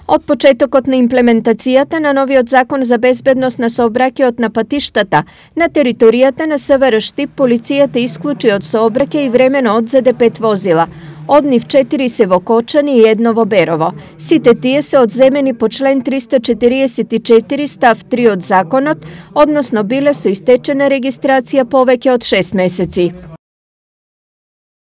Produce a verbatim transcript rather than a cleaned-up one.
Од почетокот на имплементацијата на новиот закон за безбедност на сообраќајот на патиштата, на територијата на СВР Штип полицијата исклучи од сообраќај и времено одзеде пет возила. Од нив четири се во Кочани и едно во Берово. Сите тие се одземени по член триста четириесет и четири став три од законот, односно биле со истечена регистрација повеќе од шест месеци.